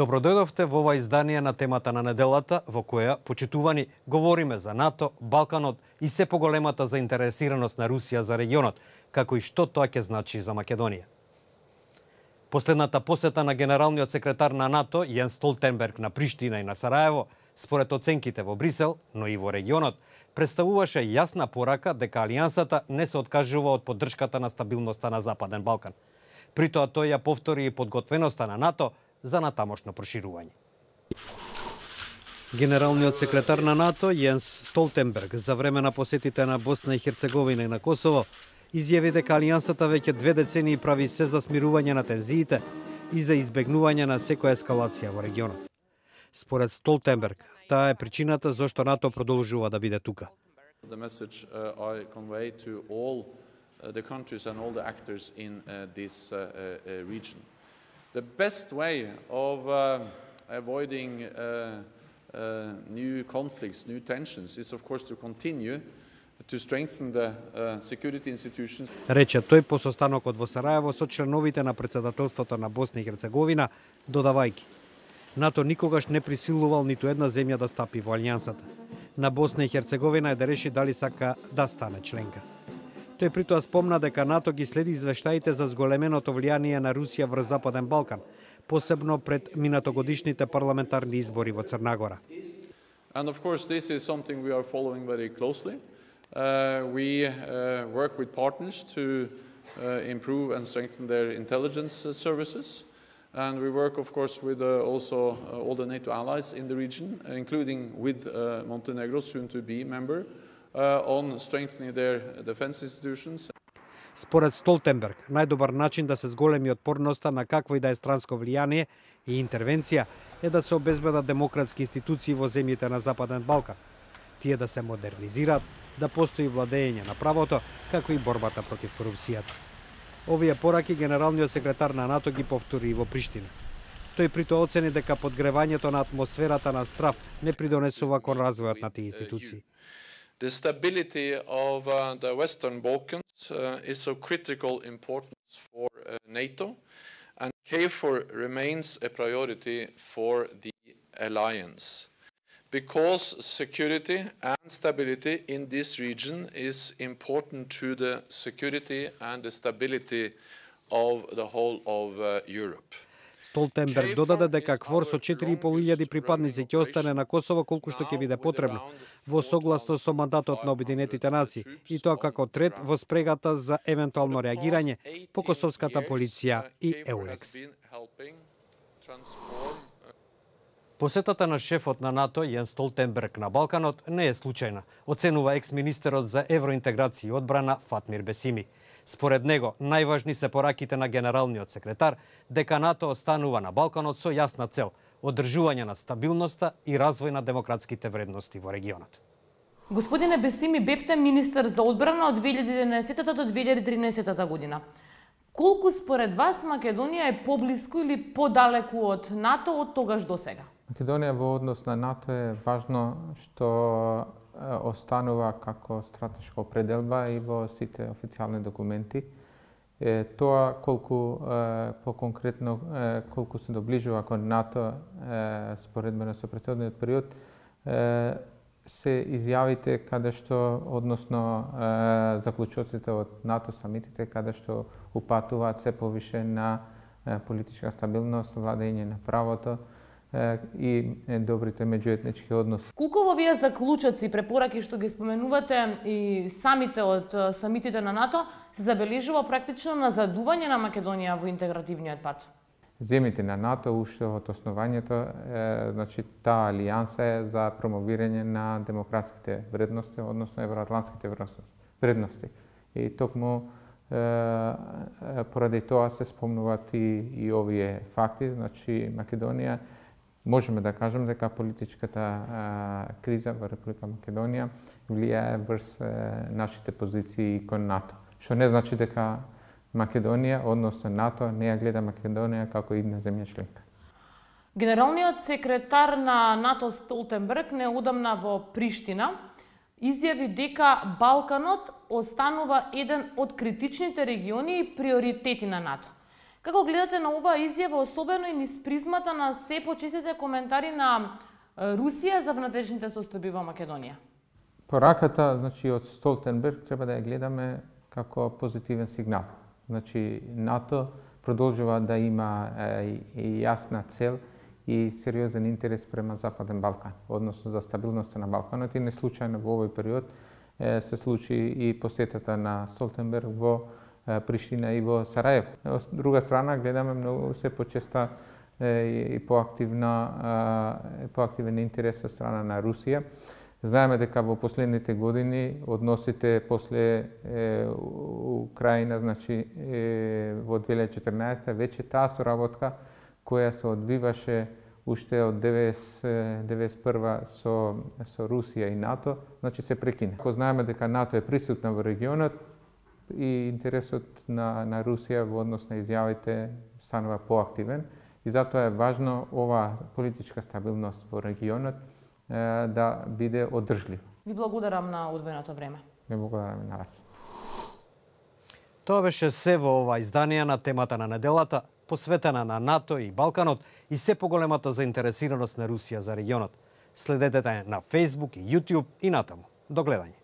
Добродојдовте во ова издание на темата на неделата, во која, почитувани, говориме за НАТО, Балканот и се поголемата заинтересираност на Русија за регионот, како и што тоа ќе значи за Македонија. Последната посета на генералниот секретар на НАТО, Јенс Столтенберг, на Приштина и на Сараево, според оценките во Брисел, но и во регионот, представуваше јасна порака дека Алијансата не се откажува од поддршката на стабилноста на Западен Балкан. При тоа тој ја повтори и подготвеноста на НАТО за натамошно проширување. Генералниот секретар на НАТО, Јенс Столтенберг, за време на посетите на Босна и Херцеговина и на Косово, изјави дека Алијансата веќе 2 децении прави се за смирување на тензиите и за избегнување на секоја ескалација во регионот. Според Столтенберг, таа е причината зашто НАТО продолжува да биде тука. The countries and all the actors in this region. The best way of avoiding new conflicts, new tensions, is of course to continue to strengthen the security institutions. Рече тој по состанокот во Сараево со членовите на председателството на Босна и Херцеговина, додавајќи: НАТО никогаш не присилувал ниту една земја да стапи во Алијансата. На Босна и Херцеговина е да реши дали сака да стане членка. Тој притоа спомна дека НАТО ги следи извештаите за зголеменото влијание на Русија врз Западен Балкан, посебно пред минатогодишните парламентарни избори во Црна Гора. And of course this is something we are following very closely. We work with partners to improve and strengthen their intelligence services. And we work of course with also all the NATO allies in the region, including with Montenegro, soon to be member. On strengthening their defense institutions. Според Столтенберг, најдобар начин да се зголеми отпорноста на какво и да е странско влијание и интервенција е да се обезбедат демократски институции во земјите на Западен Балкан. Тие да се модернизираат, да постои владење на правото, како и борбата против корупцијата. Овие пораки генералниот секретар на НАТО ги повтори и во Приштина. Тој притоа оцени дека подгревањето на атмосферата на страв не придонесува кон развојот на тие институции. The stability of the Western Balkans is of critical importance for NATO, and KFOR remains a priority for the alliance. Because security and stability in this region is important to the security and the stability of the whole of Europe. Столтенберг додаде дека КФОР со 4.500 припадници ќе остане на Косово колку што ќе биде потребно, во согласно со мандатот на Обединетите нации, и тоа како трет во спрегата за евентуално реагирање по косовската полиција и Еулекс. Посетата на шефот на НАТО Јенс Столтенберг на Балканот не е случајна, оценува екс-министерот за евроинтеграција и одбрана Фатмир Бесими. Според него, најважни се пораките на генералниот секретар дека НАТО останува на Балканот со јасна цел – одржување на стабилноста и развој на демократските вредности во регионот. Господине Бесими, бевте министер за одбрана од 2011 до 2013 година. Колку според вас Македонија е поблиску или подалеку од НАТО од тогаш до сега? Македонија во однос на НАТО е важно што останува како стратешка определба и во сите официјални документи. Тоа колку по-конкретно колку се доближува кон НАТО споредбено со претходниот период се изјавите каде што односно заклучоците од НАТО самитите каде што упатуваат се повише на политичка стабилност, владење на правото и добрите меѓуетнички односи. Колку во овие заклучоци и препораки што ги споменувате и самите од самитите на НАТО се забележува практично назадување на Македонија во интегративниот пат? Земите на НАТО уште од основањето, значи таа алијанса е за промовирање на демократските вредности, односно евроатлантските вредности. И токму поради тоа се спомнуваат и овие факти, значи Македонија можеме да кажеме дека политичката криза во Република Македонија влијае врз нашите позиции кон НАТО. Што не значи дека Македонија, односно НАТО, не ја гледа Македонија како една земја членка. Генералниот секретар на НАТО Столтенберг неодамна во Приштина изјави дека Балканот останува еден од критичните региони и приоритети на НАТО. Како гледате на оваа изјава, особено и низ призмата на се почестите коментари на Русија за внатрешните состојби во Македонија? Пораката, од Столтенберг треба да ја гледаме како позитивен сигнал. НАТО продолжува да има и јасна цел и сериозен интерес према Западен Балкан, односно за стабилноста на Балканот, и не случајно во овој период се случи и посетата на Столтенберг во Приштина и во Сараево. Од друга страна, гледаме многу се почеста и поактивен интерес од страна на Русија. Знаеме дека во последните години односите после Украина, во 2014 веќе таа соработка која се одвиваше уште од 1991 со Русија и НАТО, се прекина. Ако знаеме дека НАТО е присутна во регионот и интересот на Русија во однос на изјавите станува поактивен, и затоа е важно ова политичка стабилност во регионот да биде одржлив. Ви благодарам на одвоеното време. Ви благодарам на вас. Тоа беше се во ова издание на темата на неделата, посветена на НАТО и Балканот и се поголемата заинтересираност на Русија за регионот. Следете на Facebook и YouTube и натаму. До гледање.